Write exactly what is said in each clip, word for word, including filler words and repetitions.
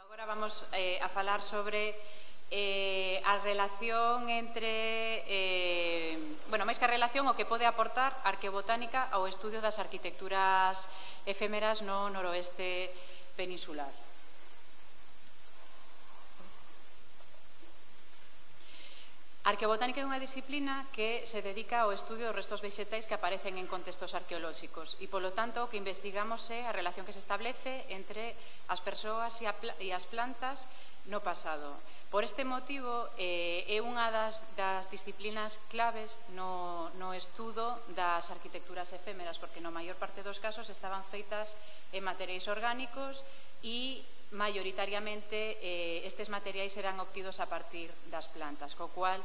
Agora vamos eh, a falar sobre eh, a relación entre, eh, bueno, máis que a relación, o que pode aportar a arqueobotánica ao estudio das arquitecturas efémeras no noroeste peninsular. A arqueobotánica é unha disciplina que se dedica ao estudio dos restos vexetais que aparecen en contextos arqueolóxicos e, polo tanto, o que investigamos é a relación que se establece entre as persoas e as plantas no pasado. Por este motivo, eh, é unha das, das disciplinas claves no, no estudo das arquitecturas efémeras, porque no maior parte dos casos estaban feitas en materiais orgánicos e maioritariamente eh, estes materiais serán obtidos a partir das plantas, co cual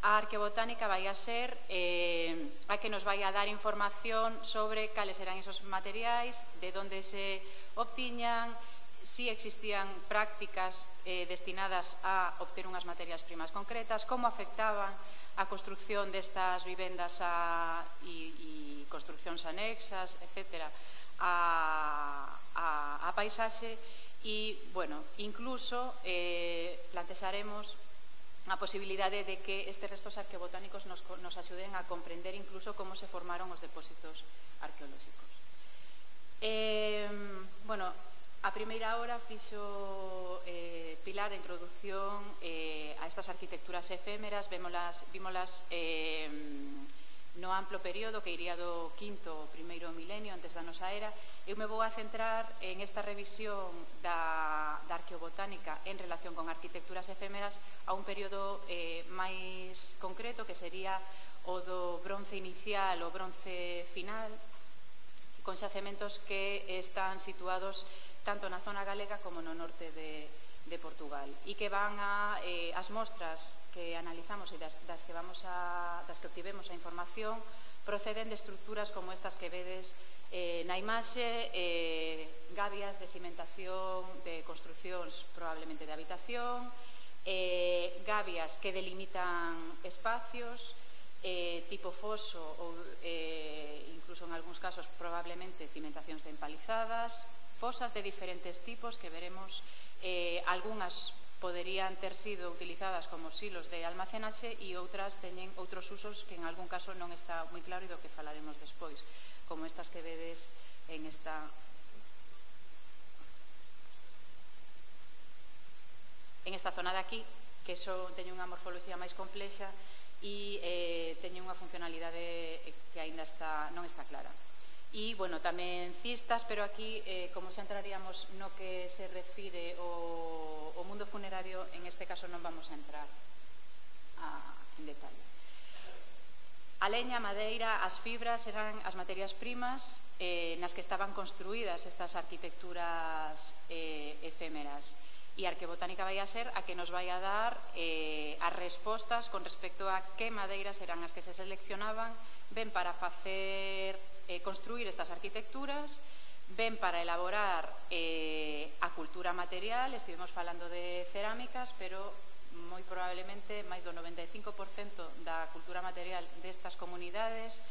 a arqueobotánica vai a ser eh, a que nos vai a dar información sobre cales eran esos materiais, de onde se obtiñan, si existían prácticas eh, destinadas a obter unhas materias primas concretas, como afectaban a construcción destas vivendas a, e, e construccións anexas, etcétera, a, a, a paisaxe. E, bueno, incluso eh, plantexaremos a posibilidade de que estes restos arqueobotánicos nos, nos axuden a comprender incluso como se formaron os depósitos arqueolóxicos. Eh, bueno, a primeira hora fixo eh, Pilar a introducción eh, a estas arquitecturas efémeras, vémolas, vímolas eh, no amplo período que iría do quinto ao primeiro milenio antes da nosa era. Eu me vou a centrar en esta revisión da, da arqueobotánica en relación con arquitecturas efémeras a un período eh, máis concreto, que sería o do bronce inicial ou bronce final, con xacementos que están situados tanto na zona galega como no norte de, de Portugal, e que van a eh, as mostras que analizamos e das, das que vamos a, das que obtivemos a información proceden de estruturas como estas que vedes eh, na imaxe, eh, gabias de cimentación de construcións probablemente de habitación, eh, gabias que delimitan espacios, eh, tipo foso ou eh, incluso en algúns casos probablemente cimentacións de empalizadas, fosas de diferentes tipos que veremos, eh, algunhas poderían ter sido utilizadas como silos de almacenaxe e outras teñen outros usos que en algún caso non está moi claro e do que falaremos despois, como estas que vedes en esta en esta zona de aquí, que eso teñe unha morfoloxía máis complexa e eh, teñe unha funcionalidade que aínda está, non está clara. E, bueno, tamén cistas, pero aquí, eh, como xa entraríamos no que se refire o, o mundo funerario, en este caso non vamos a entrar a, en detalle. A leña, a madeira, as fibras eran as materias primas eh, nas que estaban construídas estas arquitecturas eh, efémeras. E a arqueobotánica vai a ser a que nos vai a dar eh, as respostas con respecto a que madeiras eran as que se seleccionaban ben para facer eh, construir estas arquitecturas, ben para elaborar eh, a cultura material. Estivemos falando de cerámicas, pero moi probablemente máis do noventa e cinco por cento da cultura material destas comunidades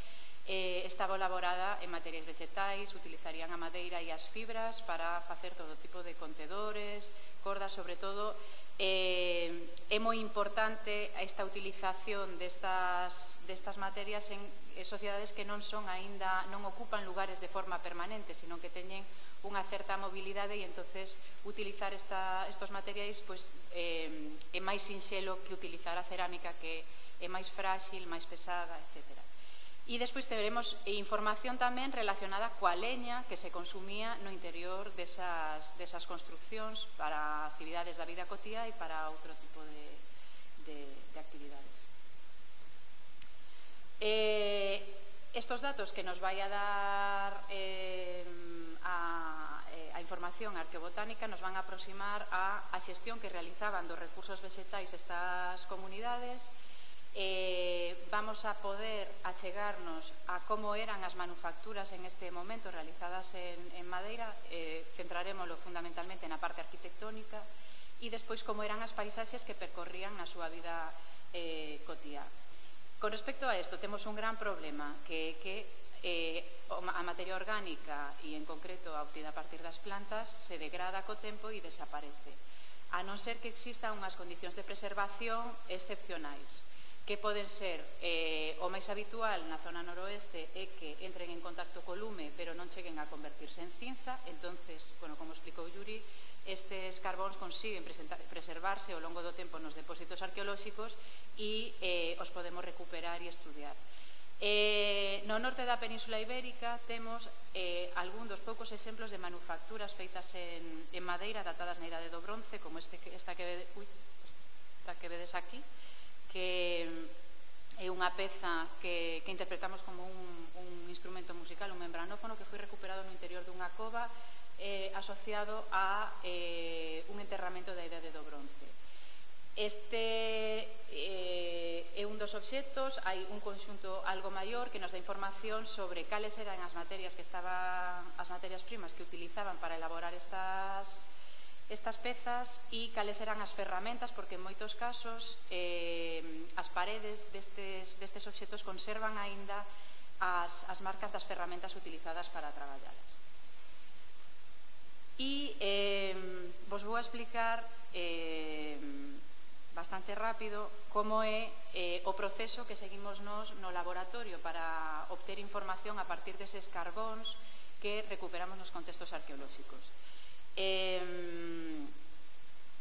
eh, estaba elaborada en materiais vegetais, utilizarían a madeira e as fibras para facer todo tipo de contedores, cordas, sobre todo. Eh, é moi importante esta utilización destas, destas materias en sociedades que non son aínda, non ocupan lugares de forma permanente, sino que teñen unha certa mobilidade e entonces utilizar esta, estos materiais pois, eh, é máis sinxelo que utilizar a cerámica, que é máis frágil, máis pesada, etcétera. E despois teremos información tamén relacionada coa leña que se consumía no interior desas, desas construccións para actividades da vida cotiá e para outro tipo de, de, de actividades. Eh, estos datos que nos vai a dar eh, a, a información arqueobotánica nos van a aproximar a, a xestión que realizaban dos recursos vegetais estas comunidades. Eh, vamos a poder achegarnos a como eran as manufacturas en este momento realizadas en, en madeira, eh, centrarémoslo fundamentalmente na parte arquitectónica, e despois como eran as paisaxes que percorrían na súa vida eh, cotiá. Con respecto a isto, temos un gran problema, que é que eh, a materia orgánica e en concreto a obtida a partir das plantas se degrada co tempo e desaparece. a non ser que existan unhas condicións de preservación excepcionais, que poden ser eh, o máis habitual na zona noroeste é que entren en contacto co lume pero non cheguen a convertirse en cinza. Entonces, bueno, como explicou Yuri, estes carbóns consiguen preservarse ao longo do tempo nos depósitos arqueolóxicos e eh, os podemos recuperar e estudiar. Eh, no norte da Península Ibérica temos eh, algún dos poucos exemplos de manufacturas feitas en, en madeira datadas na Idade do Bronce, como este, esta, que, ui, esta que vedes aquí, que é unha peza que, que interpretamos como un, un instrumento musical, un membranófono, que foi recuperado no interior dunha cova eh, asociado a eh, un enterramento da Idade do Bronce. Este eh, é un dos obxectos. Hai un conxunto algo maior que nos dá información sobre cales eran as materias que estaban, as materias primas que utilizaban para elaborar estas estas pezas e cales eran as ferramentas, porque en moitos casos eh, as paredes destes, destes obxectos conservan aínda as, as marcas das ferramentas utilizadas para traballalas. E eh, vos vou a explicar eh, bastante rápido como é eh, o proceso que seguimos nos no laboratorio para obter información a partir deses carbóns que recuperamos nos contextos arqueolóxicos. Eh,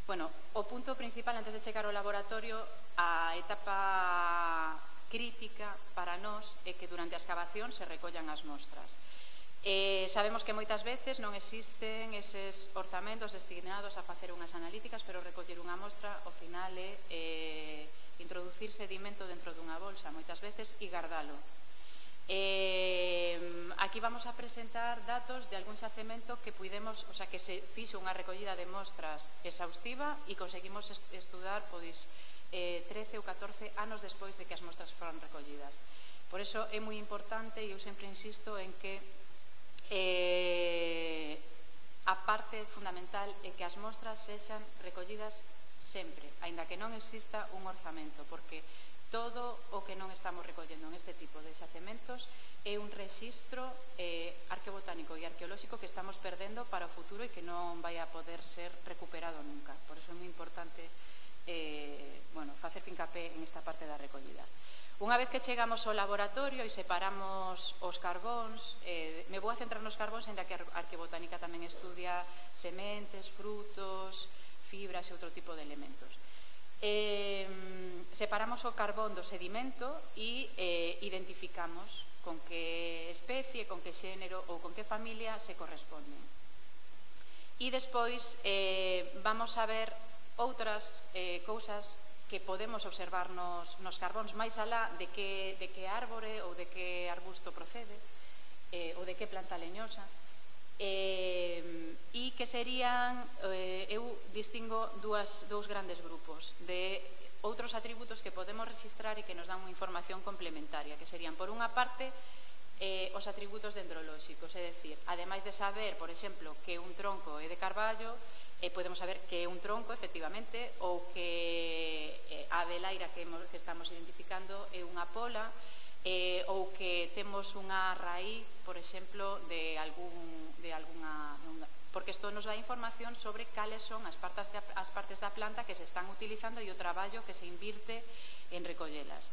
bueno, o punto principal antes de chegar ao laboratorio, a etapa crítica para nós é que durante a excavación se recollan as mostras. Eh, sabemos que moitas veces non existen eses orzamentos destinados a facer unhas analíticas, pero recoller unha mostra ao final é eh, introducir sedimento dentro dunha bolsa moitas veces e guardalo. Eh, aquí vamos a presentar datos de algún xacemento que puidemos, o sea, que se fixo unha recollida de mostras exhaustiva e conseguimos est estudar pois, eh, trece ou catorce anos despois de que as mostras foran recollidas. Por iso é moi importante, e eu sempre insisto en que eh, a parte fundamental é que as mostras sexan recollidas sempre, aínda que non exista un orzamento, porque todo o que non estamos recollendo en este tipo de xacementos é un rexistro eh, arqueobotánico e arqueolóxico que estamos perdendo para o futuro e que non vai a poder ser recuperado nunca. Por iso é moi importante eh, bueno, facer fincapé en esta parte da recollida. Unha vez que chegamos ao laboratorio e separamos os carbóns, eh, me vou a centrar nos carbóns, ainda que a arqueobotánica tamén estudia sementes, frutos, fibras e outro tipo de elementos. Eh, separamos o carbón do sedimento e eh, identificamos con que especie, con que xénero ou con que familia se corresponden. E despois eh, vamos a ver outras eh, cousas que podemos observar nos, nos carbóns máis alá de que, de que árbore ou de que arbusto procede eh, ou de que planta leñosa. Eh, e que serían, eh, eu distingo dúas, dous grandes grupos de outros atributos que podemos registrar e que nos dan unha información complementaria, que serían, por unha parte, eh, os atributos dendrolóxicos, é dicir, ademais de saber, por exemplo, que un tronco é de carballo, eh, podemos saber que é un tronco, efectivamente, ou que eh, a velaira que, que estamos identificando é unha pola, eh, ou que temos unha raíz, por exemplo, de algún de alguna, porque isto nos dá información sobre cales son as partes, de, as partes da planta que se están utilizando e o traballo que se invirte en recollelas.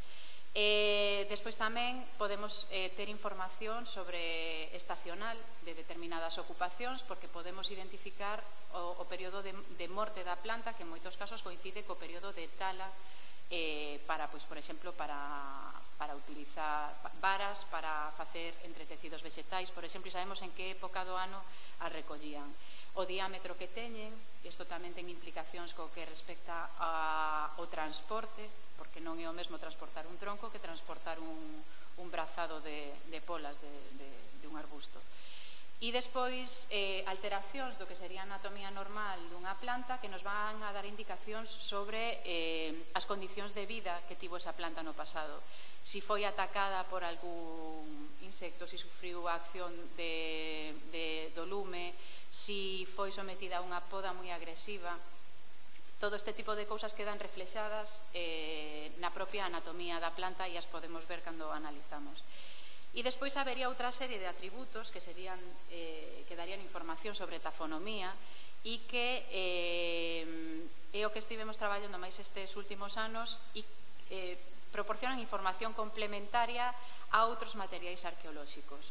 Eh, despois tamén podemos eh, ter información sobre estacional de determinadas ocupacións, porque podemos identificar o, o período de, de morte da planta, que en moitos casos coincide co período de tala eh, para, pois, por exemplo, para para utilizar varas para facer entretecidos vegetais, por exemplo, e sabemos en que época do ano as recollían. O diámetro que teñen, isto tamén ten implicacións co que respecta ao transporte, porque non é o mesmo transportar un tronco que transportar un, un brazado de, de polas de, de, de un arbusto. E despois eh, alteracións do que sería a anatomía normal dunha planta que nos van a dar indicacións sobre eh, as condicións de vida que tivo esa planta no pasado. Si foi atacada por algún insecto, si sufriu a acción de, de, do lume, si foi sometida a unha poda moi agresiva. Todo este tipo de cousas quedan reflexadas eh, na propia anatomía da planta e as podemos ver cando analizamos. E despois habería outra serie de atributos que serían, eh, que darían información sobre tafonomía e que eh, é o que estivemos traballando máis estes últimos anos e eh, proporcionan información complementaria a outros materiais arqueolóxicos.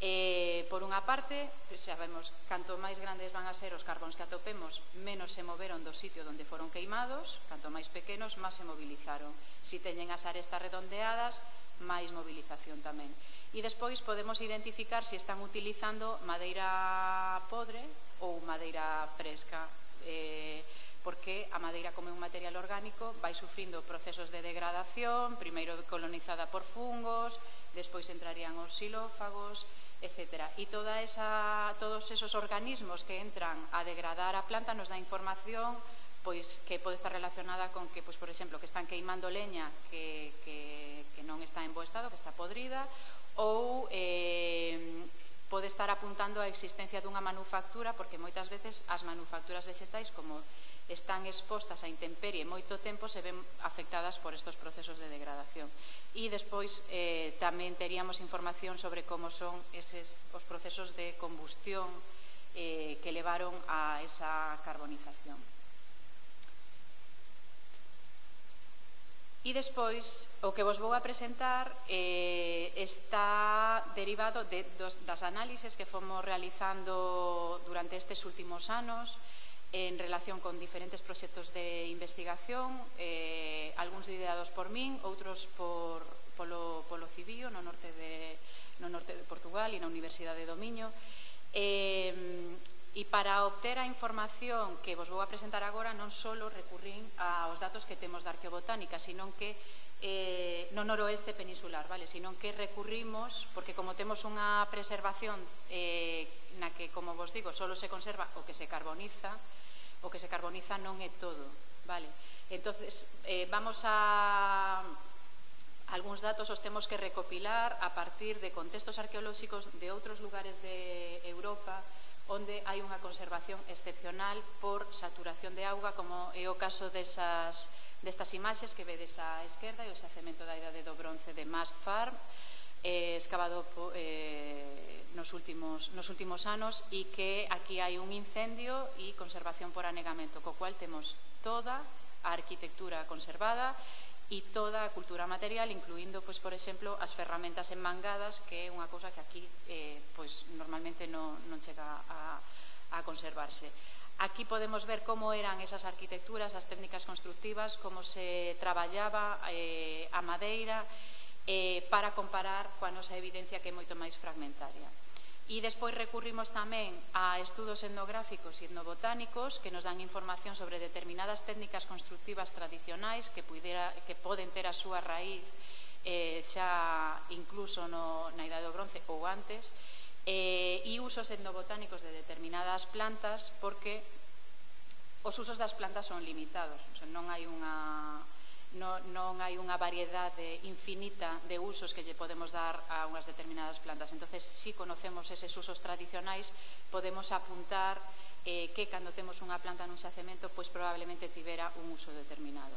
Eh, por unha parte, sabemos, canto máis grandes van a ser os carbóns que atopemos, menos se moveron do sitio onde foron queimados, canto máis pequenos, máis se movilizaron. Si teñen as arestas redondeadas, máis movilización tamén. E despois podemos identificar se están utilizando madeira podre ou madeira fresca, eh, porque a madeira, como é un material orgánico, vai sufrindo procesos de degradación, primeiro colonizada por fungos, despois entrarían os xilófagos, etcétera. E toda esa, todos esos organismos que entran a degradar a planta nos dá información pois, que pode estar relacionada con que, pois, por exemplo, que están queimando leña que, que, que non está en bo estado, que está podrida, ou eh, pode estar apuntando a existencia dunha manufactura, porque moitas veces as manufacturas vegetais, como están expostas a intemperie moito tempo, se ven afectadas por estos procesos de degradación. E despois eh, tamén teríamos información sobre como son eses, os procesos de combustión eh, que levaron a esa carbonización. E despois, o que vos vou a presentar eh, está derivado de, dos, das análises que fomos realizando durante estes últimos anos en relación con diferentes proxectos de investigación, eh, algúns liderados por min, outros por, polo, polo Cibío, no norte, de, no norte de Portugal e na Universidade do Miño. Eh, e para obter a información que vos vou a presentar agora, non só recurrín aos datos que temos da arqueobotánica, sino que eh, no noroeste peninsular, vale? Sino que recurrimos, porque como temos unha preservación eh, na que, como vos digo, só se conserva o que se carboniza, o que se carboniza non é todo, vale? Entonces, eh, vamos a... Algúns datos os temos que recopilar a partir de contextos arqueolóxicos de outros lugares de Europa onde hai unha conservación excepcional por saturación de auga, como é o caso desas, destas imaxes que vedes á esquerda, e o xacemento da Idade do Bronce de Mast Farm, eh, excavado eh, nos, últimos, nos últimos anos, e que aquí hai un incendio e conservación por anegamento, co cual temos toda a arquitectura conservada e toda a cultura material, incluindo, pois, por exemplo, as ferramentas enmangadas, que é unha cousa que aquí eh, pois, normalmente non, non chega a, a conservarse. Aquí podemos ver como eran esas arquitecturas, as técnicas constructivas, como se traballaba eh, a madeira, eh, para comparar coa nosa evidencia, que é moito máis fragmentaria. E despois recurrimos tamén a estudos etnográficos e etnobotánicos que nos dan información sobre determinadas técnicas constructivas tradicionais que, puidera, que poden ter a súa raíz eh, xa incluso no, na Idade do Bronce ou antes, eh, e usos etnobotánicos de determinadas plantas, porque os usos das plantas son limitados, o sea, non hai unha... Non, non hai unha variedade infinita de usos que lle podemos dar a unhas determinadas plantas. Entonces, si conocemos eses usos tradicionais, podemos apuntar eh, que cando temos unha planta nun xacemento, pois probablemente tivera un uso determinado.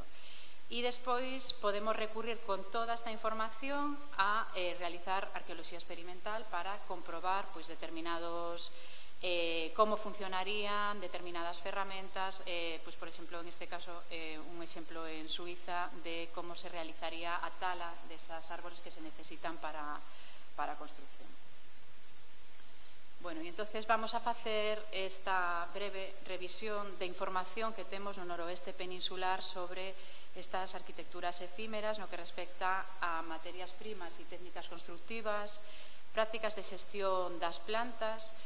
E despois podemos recurrir con toda esta información a eh, realizar arqueoloxía experimental para comprobar pois, determinados Eh, como funcionarían determinadas ferramentas, eh, pues, por exemplo, en este caso, eh, un exemplo en Suiza de como se realizaría a tala desas árbores que se necesitan para, para a construcción. Bueno, e entonces vamos a facer esta breve revisión de información que temos no noroeste peninsular sobre estas arquitecturas efímeras no que respecta a materias primas e técnicas constructivas, prácticas de xestión das plantas,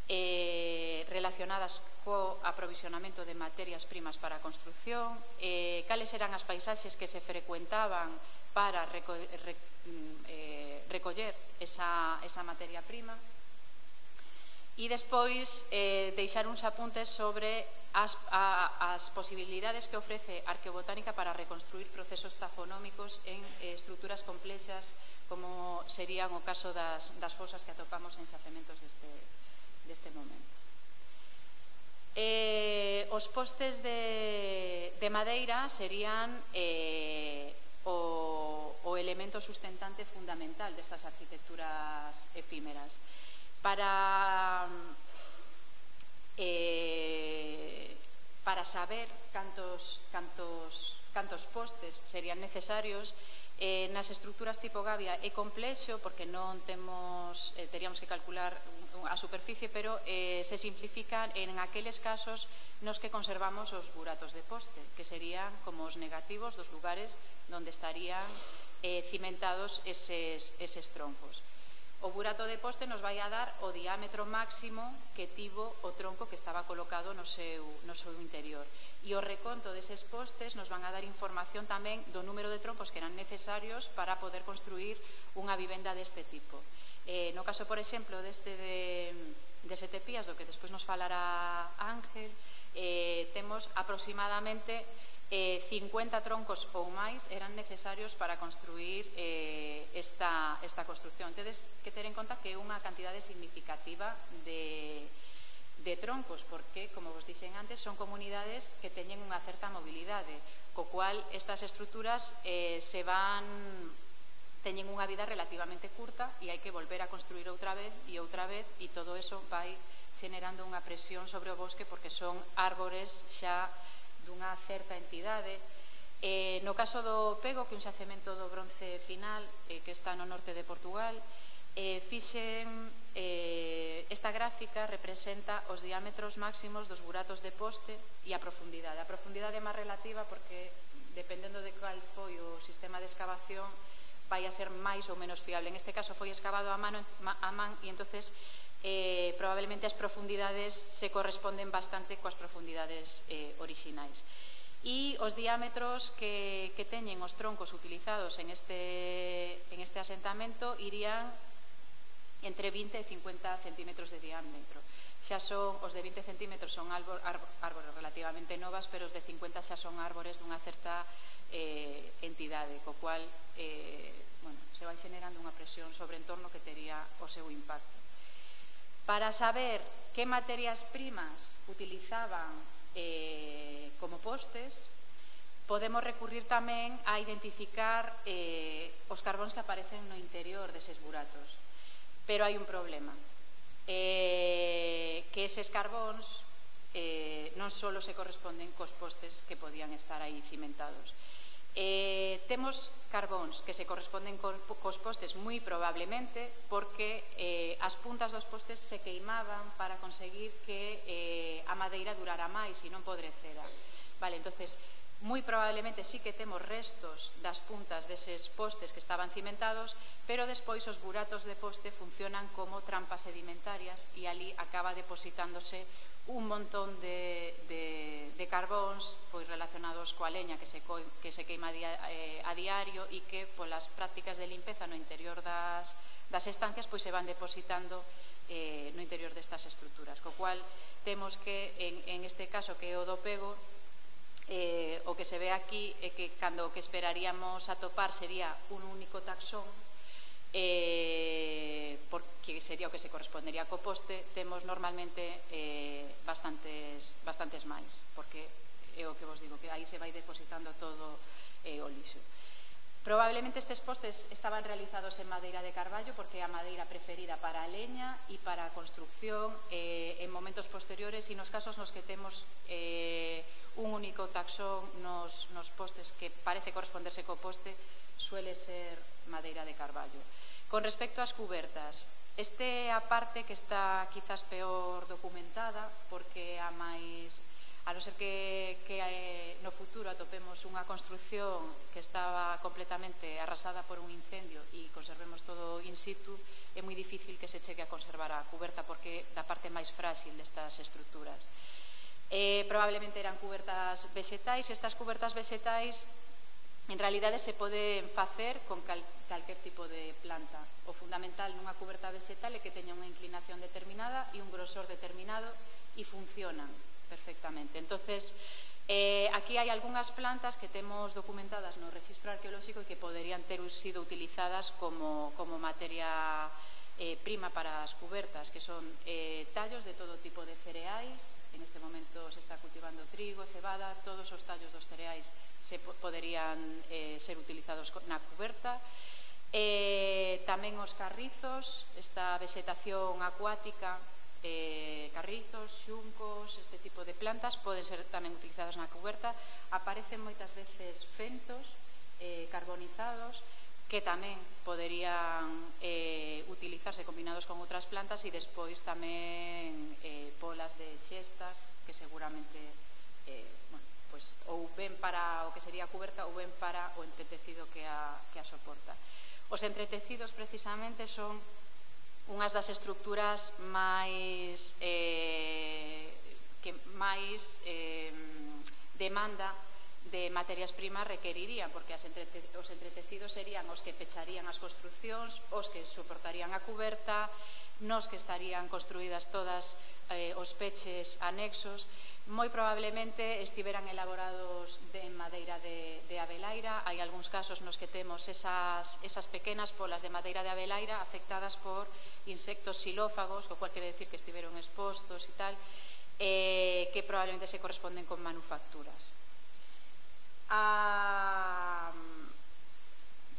Eh, relacionadas co aprovisionamento de materias primas para a construcción, eh, cales eran as paisaxes que se frecuentaban para reco re eh, recoller esa, esa materia prima, e despois eh, deixar uns apuntes sobre as, a, as posibilidades que ofrece arqueobotánica para reconstruir procesos tafonómicos en eh, estruturas complexas, como serían o caso das, das fosas que atopamos en xacementos deste deste momento. Eh, os postes de, de madeira serían eh, o, o elemento sustentante fundamental destas arquitecturas efímeras. Para, eh, para saber cantos, cantos, cantos postes serían necesarios, Eh, nas estruturas tipo gavia é complexo porque non temos, eh, teríamos que calcular a superficie, pero eh, se simplifican en aqueles casos nos que conservamos os buratos de poste, que serían como os negativos dos lugares onde estarían eh, cimentados eses, eses troncos. O burato de poste nos vai a dar o diámetro máximo que tivo o tronco que estaba colocado no seu, no seu interior. E o reconto deses postes nos van a dar información tamén do número de troncos que eran necesarios para poder construir unha vivenda deste tipo. Eh, no caso, por exemplo, deste de, de Sete Pías, do que despois nos falará Ángel, eh, temos aproximadamente Eh, cincuenta troncos ou máis eran necesarios para construir eh, esta, esta construcción. Tedes que ter en conta que é unha cantidade significativa de, de troncos, porque, como vos dixen antes, son comunidades que teñen unha certa mobilidade, co cual estas estruturas eh, se van, teñen unha vida relativamente curta e hai que volver a construir outra vez e outra vez, e todo eso vai xenerando unha presión sobre o bosque porque son árbores xa dunha certa entidade. Eh, no caso do Pego, que é un xacemento do bronce final, eh, que está no norte de Portugal, eh, fixen eh, esta gráfica representa os diámetros máximos dos buratos de poste e a profundidade. A profundidade é máis relativa porque, dependendo de cal foi o sistema de excavación, vai a ser máis ou menos fiable. En este caso foi excavado a, mano, a man e entonces Eh, probablemente as profundidades se corresponden bastante coas profundidades eh, orixinais. E os diámetros que, que teñen os troncos utilizados en este, en este asentamento irían entre vinte e cincuenta centímetros de diámetro. Xa son, os de vinte centímetros son árbor, árbores relativamente novas, pero os de cincuenta xa son árbores dunha certa eh, entidade, co cual eh, bueno, se vai xenerando unha presión sobre o entorno que tería o seu impacto. Para saber que materias primas utilizaban eh, como postes, podemos recurrir tamén a identificar eh, os carbóns que aparecen no interior deses buratos. Pero hai un problema, eh, que eses carbóns eh, non só se corresponden cos postes que podían estar aí cimentados. Eh, temos carbóns que se corresponden cos postes moi probablemente porque eh, as puntas dos postes se queimaban para conseguir que eh, a madeira durara máis e non podrecera. Vale, entonces, moi probablemente sí que temos restos das puntas deses postes que estaban cimentados, pero despois os buratos de poste funcionan como trampas sedimentarias e ali acaba depositándose un montón de, de, de carbóns pois, relacionados coa leña que se, co, que se queima dia, eh, a diario e que polas prácticas de limpeza no interior das, das estancias pois, se van depositando eh, no interior destas estruturas, co cual temos que en, en este caso que é o do Pego, eh, o que se ve aquí é que cando o que esperaríamos atopar sería un único taxón, Eh, porque sería o que se correspondería co poste, temos normalmente eh, bastantes, bastantes máis, porque é o que vos digo, que aí se vai depositando todo eh, o lixo. Probablemente estes postes estaban realizados en madeira de carballo porque é a madeira preferida para a leña e para a construcción eh, en momentos posteriores, e nos casos nos que temos eh, un único taxón nos, nos postes que parece corresponderse co poste, suele ser madeira de carballo. Con respecto ás cubertas, este é a parte que está quizás peor documentada porque a máis, a non ser que, que no futuro atopemos unha construcción que estaba completamente arrasada por un incendio e conservemos todo in situ, é moi difícil que se chegue a conservar a cuberta porque é da parte máis frágil destas estruturas. Eh, probablemente eran cubertas vegetais. Estas cubertas vegetais en realidade se pode facer con cal, calquer tipo de planta. O fundamental nunha cuberta vegetal é que teña unha inclinación determinada e un grosor determinado e funcionan perfectamente. Entonces, eh, aquí hai algunhas plantas que temos documentadas no Rexistro Arqueolóxico e que poderían ter sido utilizadas como, como materia eh, prima para as cubertas, que son eh, tallos de todo tipo de cereais. En este momento se está cultivando trigo, cebada, todos os tallos dos cereais se poderían eh, ser utilizados na cuberta. Eh, tamén os carrizos, esta vegetación acuática, eh, carrizos, xuncos, este tipo de plantas poden ser tamén utilizados na cuberta. Aparecen moitas veces fentos eh, carbonizados que tamén poderían eh, utilizarse combinados con outras plantas e despois tamén eh, polas de xestas que seguramente eh, bueno, pues, ou ben para o que sería a cuberta ou ben para o entretecido que a, que a soporta. Os entretecidos precisamente son unhas das estructuras máis eh, que máis eh, demanda de materias primas requerirían, porque as entrete, os entretecidos serían os que pecharían as construcións, os que soportarían a cuberta, nos que estarían construídas todas eh, os peches anexos. Moi probablemente estiveran elaborados de, en madeira de, de abelaira. Hai algúns casos nos que temos esas, esas pequenas polas de madeira de abelaira afectadas por insectos xilófagos, o cual quere decir que estiveron expostos e tal, eh, que probablemente se corresponden con manufacturas. A,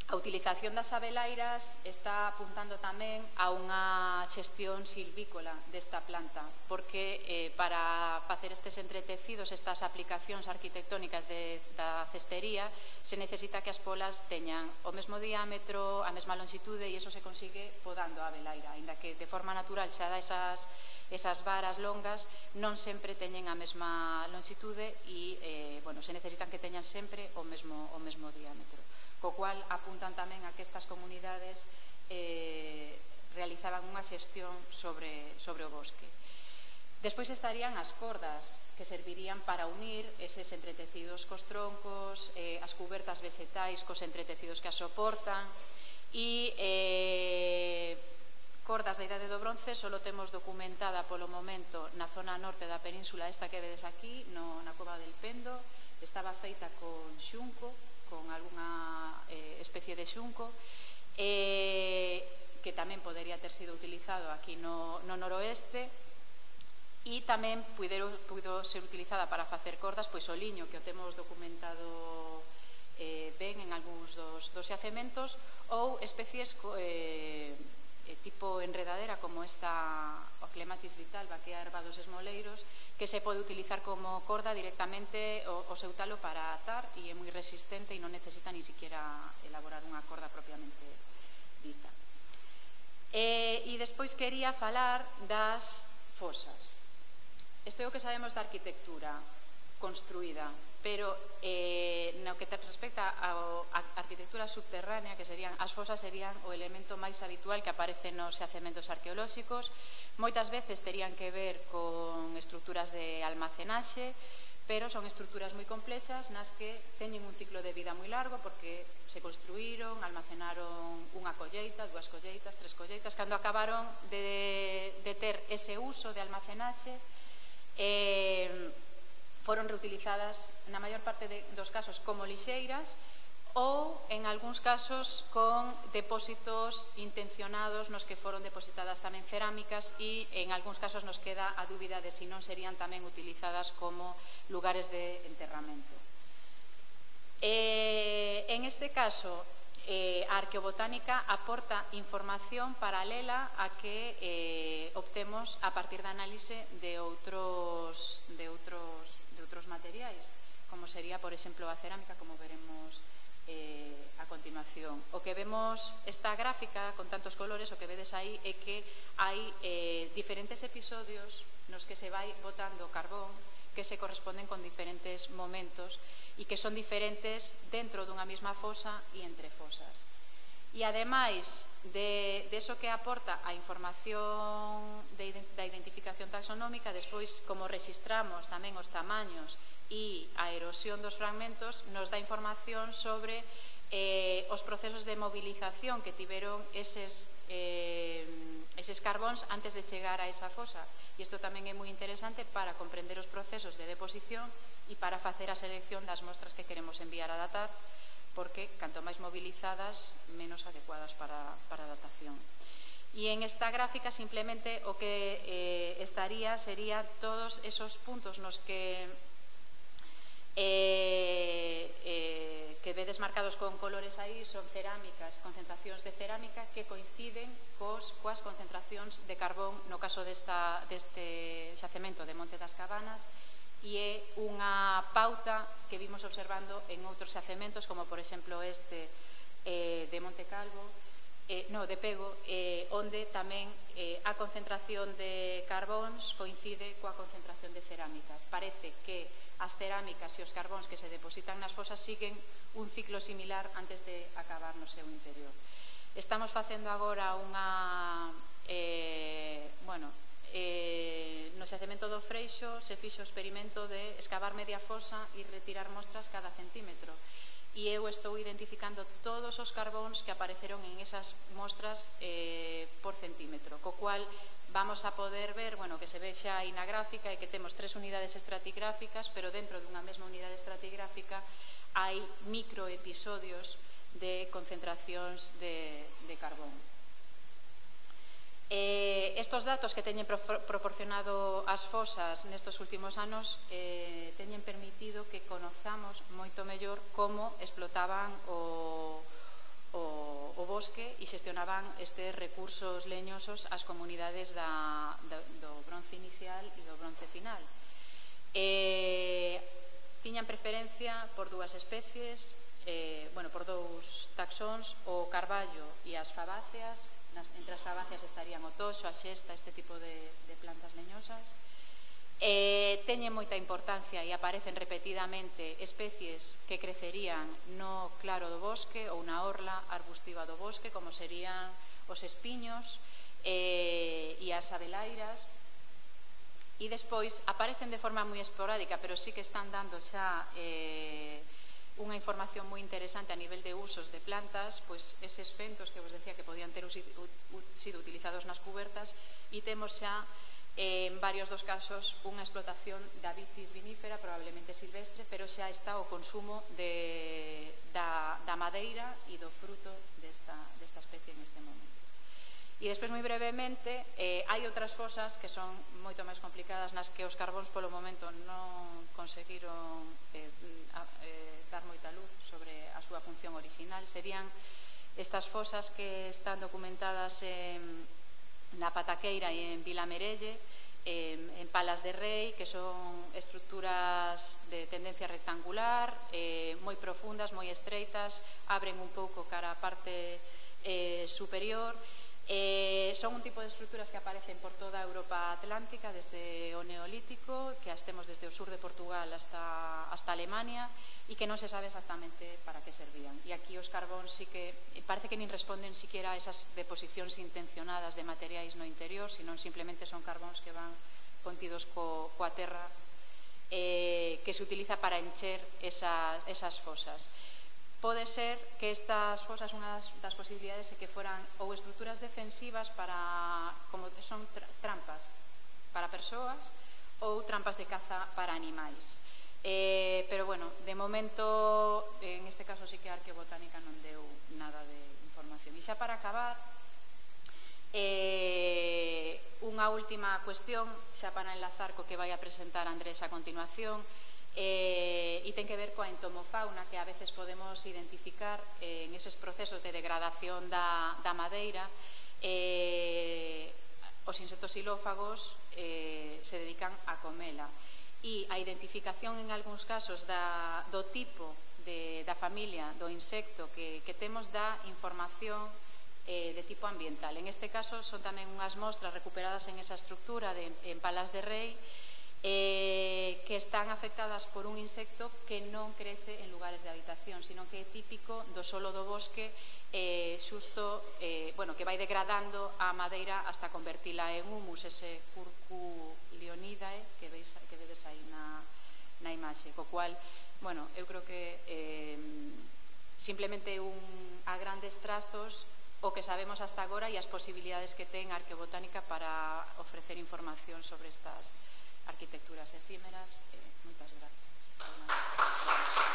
a utilización das abelairas está apuntando tamén a unha xestión silvícola desta planta, porque eh, para facer estes entretecidos, estas aplicacións arquitectónicas de, da cestería, se necesita que as polas teñan o mesmo diámetro, a mesma longitude, e iso se consigue podando a abelaira, aínda que de forma natural xa dá esas esas varas longas, non sempre teñen a mesma longitude e eh, bueno, se necesitan que teñan sempre o mesmo, o mesmo diámetro, co cual apuntan tamén a que estas comunidades eh, realizaban unha xestión sobre, sobre o bosque. Despois estarían as cordas, que servirían para unir eses entretecidos cos troncos, eh, as cubertas vegetais cos entretecidos que as soportan, e eh, cordas da Idade do Bronce só temos documentada polo momento na zona norte da península esta que vedes aquí, no, na Cova del Pendo. Estaba feita con xunco, con algunha eh, especie de xunco, eh, que tamén podería ter sido utilizado aquí no, no noroeste, e tamén puido, puido ser utilizada para facer cordas, pois o liño, que o temos documentado eh, ben en algúns dos, dos xacementos, ou especies eh, tipo enredadera como esta o Clematis vital, Baquea herba dos esmoleiros, que se pode utilizar como corda directamente o, o seu talo para atar, e é moi resistente e non necesita ni siquiera elaborar unha corda propiamente dita. E, e despois quería falar das fosas. Isto é o que sabemos da arquitectura construída, pero eh, no que respecta á arquitectura subterránea, que serían as fosas, serían o elemento máis habitual que aparece nos xacementos arqueolóxicos. Moitas veces terían que ver con estruturas de almacenaxe, pero son estruturas moi complexas nas que teñen un ciclo de vida moi largo, porque se construíron, almacenaron unha colleita, dúas colleitas, tres colleitas. Cando acabaron de, de ter ese uso de almacenaxe, eh, foron reutilizadas na maior parte de, dos casos como lixeiras, ou en algúns casos con depósitos intencionados nos que foron depositadas tamén cerámicas, e en algúns casos nos queda a dúbida de se non serían tamén utilizadas como lugares de enterramento. Eh, en este caso, eh, a arqueobotánica aporta información paralela a que eh, obtemos a partir da análise de outros, de outros outros materiais, como sería, por exemplo, a cerámica, como veremos eh, a continuación. O que vemos esta gráfica con tantos colores, o que vedes aí é que hai eh, diferentes episodios nos que se vai botando carbón que se corresponden con diferentes momentos e que son diferentes dentro dunha mesma fosa e entre fosas. E ademais de, de eso que aporta a información de, da identificación taxonómica, despois como registramos tamén os tamaños e a erosión dos fragmentos, nos dá información sobre eh, os procesos de movilización que tiveron eses, eh, eses carbóns antes de chegar a esa fosa. E isto tamén é moi interesante para comprender os procesos de deposición e para facer a selección das mostras que queremos enviar a datar, porque canto máis movilizadas, menos adecuadas para, para a datación. E en esta gráfica simplemente o que eh, estaría sería todos esos puntos nos que eh, eh, que vedes marcados con colores aí son cerámicas, concentracións de cerámica que coinciden cos, coas concentracións de carbón no caso desta, deste xacemento de Monte das Cabanas, e é unha pauta que vimos observando en outros xacementos, como por exemplo este eh, de Monte Calvo, eh, no, de Pego, eh, onde tamén eh, a concentración de carbóns coincide coa concentración de cerámicas. Parece que as cerámicas e os carbóns que se depositan nas fosas siguen un ciclo similar antes de acabar no seu interior. Estamos facendo agora unha, eh, bueno, Eh, no xacemento do Freixo se fixo o experimento de escavar media fosa e retirar mostras cada centímetro, e eu estou identificando todos os carbóns que apareceron en esas mostras eh, por centímetro, co cual vamos a poder ver, bueno, que se ve xa aí na gráfica, e que temos tres unidades estratigráficas, pero dentro dunha mesma unidade estratigráfica hai microepisodios de concentracións de, de carbón. Eh, estos datos que teñen pro proporcionado as fosas nestos últimos anos eh, teñen permitido que conozamos moito mellor como explotaban o, o, o bosque e xestionaban estes recursos leñosos as comunidades da, da, do bronce inicial e do bronce final. Eh, tiñan preferencia por dúas especies, eh, bueno, por dous taxóns, o carballo e as fabáceas. Nas, entre as fabáceas estarían o toxo, a xesta, este tipo de, de plantas leñosas. Eh, teñen moita importancia e aparecen repetidamente especies que crecerían no claro do bosque ou na orla arbustiva do bosque, como serían os espiños eh, e as abelairas. E despois aparecen de forma moi esporádica, pero sí que están dando xa eh, unha información moi interesante a nivel de usos de plantas, pois eses fentos que vos decía que podían ter sido utilizados nas cubertas, e temos xa eh, en varios dos casos unha explotación da vitis vinífera, probablemente silvestre, pero xa está o consumo de, da, da madeira e do fruto desta, desta especie en este momento. E despois, moi brevemente, eh, hai outras fosas que son moito máis complicadas, nas que os carbóns polo momento non conseguiron eh, a, eh, dar moita luz sobre a súa función orixinal. Serían estas fosas que están documentadas en, na Pataqueira e en Vilamerelle, eh, en Palas de Rei, que son estruturas de tendencia rectangular, eh, moi profundas, moi estreitas, abren un pouco cara a parte eh, superior. Eh, son un tipo de estruturas que aparecen por toda a Europa Atlántica desde o Neolítico, que as temos desde o sur de Portugal hasta, hasta Alemania, e que non se sabe exactamente para que servían. E aquí os carbóns sí que parece que nin responden siquiera a esas deposicións intencionadas de materiais no interior, senón simplemente son carbóns que van contidos co, coa terra eh, que se utiliza para encher esa, esas fosas. Pode ser que estas fosas, unha das posibilidades é que foran ou estruturas defensivas para, como son trampas para persoas, ou trampas de caza para animais. Eh, pero, bueno, de momento, en este caso sí que a Arqueobotánica non deu nada de información. E xa para acabar, eh, unha última cuestión, xa para enlazar co que vai a presentar Andrés a continuación, Eh, e ten que ver coa entomofauna que a veces podemos identificar eh, en eses procesos de degradación da, da madeira. Eh, os insectos xilófagos eh, se dedican a comela, e a identificación en algúns casos da, do tipo de, da familia do insecto que, que temos dá información eh, de tipo ambiental. En este caso son tamén unhas mostras recuperadas en esa estructura de, en Palas de Rei, Eh, que están afectadas por un insecto que non crece en lugares de habitación, sino que é típico do solo do bosque, eh, xusto, eh, bueno, que vai degradando a madeira hasta convertila en humus, ese Curculionidae que, veis, que vedes aí na, na imaxe, co cual, bueno, eu creo que eh, simplemente un, a grandes trazos o que sabemos hasta agora e as posibilidades que ten a Arqueobotánica para ofrecer información sobre estas arquitecturas efímeras. Eh, moitas gracias.